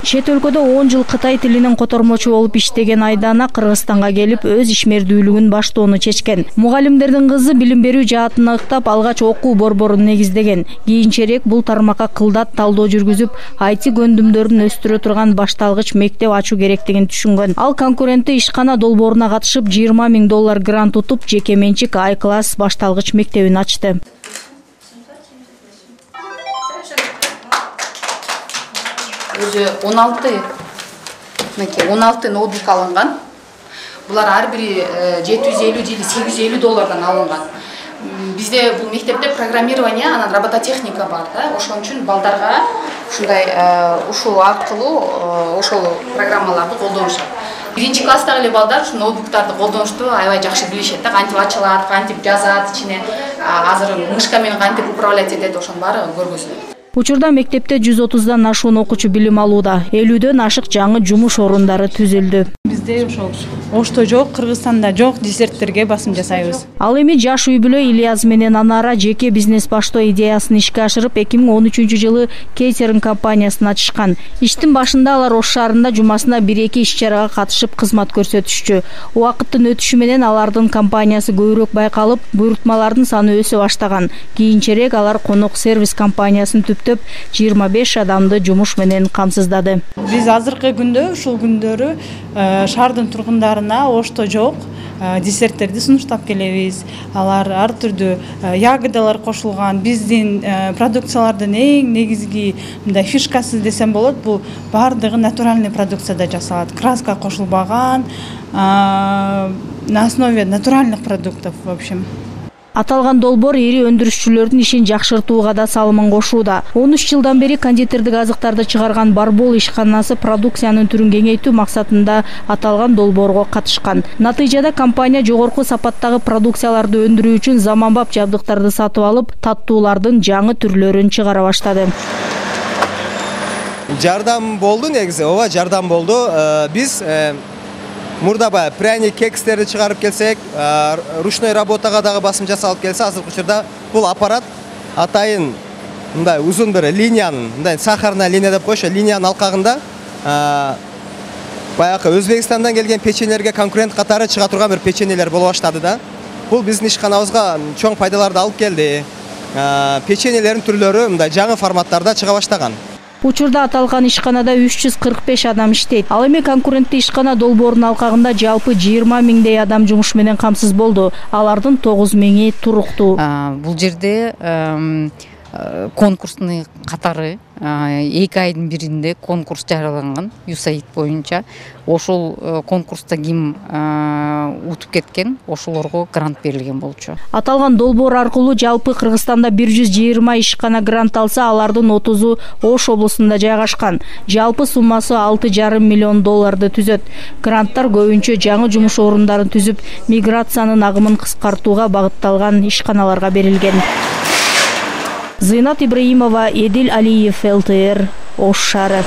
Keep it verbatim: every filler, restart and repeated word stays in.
Чет өлкөдө он жыл Кытай тилинин котормочу болуп иштеген Айдана Кыргызстанга келип өз ишмердүүлүгүн баштоону чечкен. Мугалимдердин кызы билим берүү жаатын ыктап алгач окуу борборун негиздеген. Кийинчерээк бул тармакка кылдат талдоо жүргүзүп, ай ти көндүмдөрүн өстүрө турган башталгыч мектеп ачуу керектигин түшүнгөн. Ал конкуренти ишкана долбооруна катышып жыйырма миң доллар грант утуп, жеке менчик I-класс башталгыч мектебин ачты. Өзү он алты он алты ноутбук алынган. Булар ар бири жети жүз элүү же сегиз жүз элүү доллардан алынган. Бизде бул мектепте программирование, анан робототехника бар да. Ошон үчүн балдарга ушундай ушул аркылуу ошол программаларды колдонушат. Биринчи класстагы эле балдар ушу ноутбуктарды колдонушту аябай жакшы билишет да, кантип ачылат, кантип жазат, ичине азыр мышка менен кантип управлять этет, ошонун баары көргөзүлөт. Учурда мектепте жүз отуздан ашуун окуучу билим алууда. элүүдөн ашык жаңы жумуш орундары түзүлдү. Бизде ошол Ошто жок, Кыргызстанда жок десерттерге басым жасайбыз. Ал эми жаш үй бүлө Ильяз менен Анара жеке бизнес баштоо идеясын ишке ашырып, эки миң он үчүнчү жылы кейтеринг компаниясын ачышкан. Иштин башында алар Ош шаарында жумасына бир-эки иш-чарага катышып кызмат көрсөтүшчү. Убакыттын өтүшү менен алардын компаниясы көбүрөөк байкалып, буйрутмалардын саны өсө баштаган. Кийинчерээк алар конок сервис компаниясын түптөп, жыйырма беш адамды жумуш менен камсыздады. Биз азыркы күндө ушул күндөрү шаардын тургундарына Ошто жок десерттерди сунуштап келебиз. Алар ар түрдүү ягодалар кошулган. Биздин продукциялардын эң негизги мындай фишкасы десем болот, бул бардыгы натуральный продукцияда жасалат. Краска кошулбаган, на основе натуральных продуктов, в общем. Аталган долбоор ири өндүрүшчүлөрдүн ишин жакшыртууга да салымын кошууда. он үч жылдан бери кондитердик азыктарды чыгарган Барбол ишканасы продукциянын түрүн кеңейтүү максатында аталган долбоорго катышкан. Натыйжада компания жогорку сапаттагы продукцияларды өндүрүү үчүн заманбап жабдыктарды сатып алып, таттуулардын жаңы түрлөрүн чыгара баштады. Жардам болду негизи, ооба жардам болду. Биз мурда баягы пряник, кекстерди чыгарып келсек, ручной работага дагы басым жасалып келсе, азыркы учурда бул аппарат атайын мындай узун бир линиянын, мындай сахарная линия деп коюшу, линиянын алкагында баягы Өзбекстандан келген печеньелерге конкурент катары чыга турган бир печеньелер боло баштады да. Бул биздин ишканабызга чоң пайдаларды алып келди. Печеньелердин түрлөрү мындай жаңы форматтарда чыга баштаган. Учурда аталган ишканада үч жүз кырк беш адам иштейт. Ал эми конкуренттүү ишкана долбоорунун алкагында жалпы жыйырма миңдей адам жумуш менен камсыз болду. Алардын тогуз миңи туруктуу. Бул жерде конкурстун катары эки айдын биринде конкурс жарыяланган ю эс эй ай ди боюнча. Ошол конкурста ким утуп кеткен, ошолорго грант берилген болчу. Аталган долбоор аркылуу жалпы Кыргызстанда бир жүз жыйырма ишкана грант алса, алардын отузу Ош облусунда жайгашкан. Жалпы суммасы алты жарым миллион долларды түзөт. Гранттар көбүнчө жаңы жумуш орундарын түзүп, миграциянын агымын кыскартууга багытталган ишканаларга берилген. Зыйнат Ибраимова, Эдил Алиев, эл тэ эр, Ош шаары.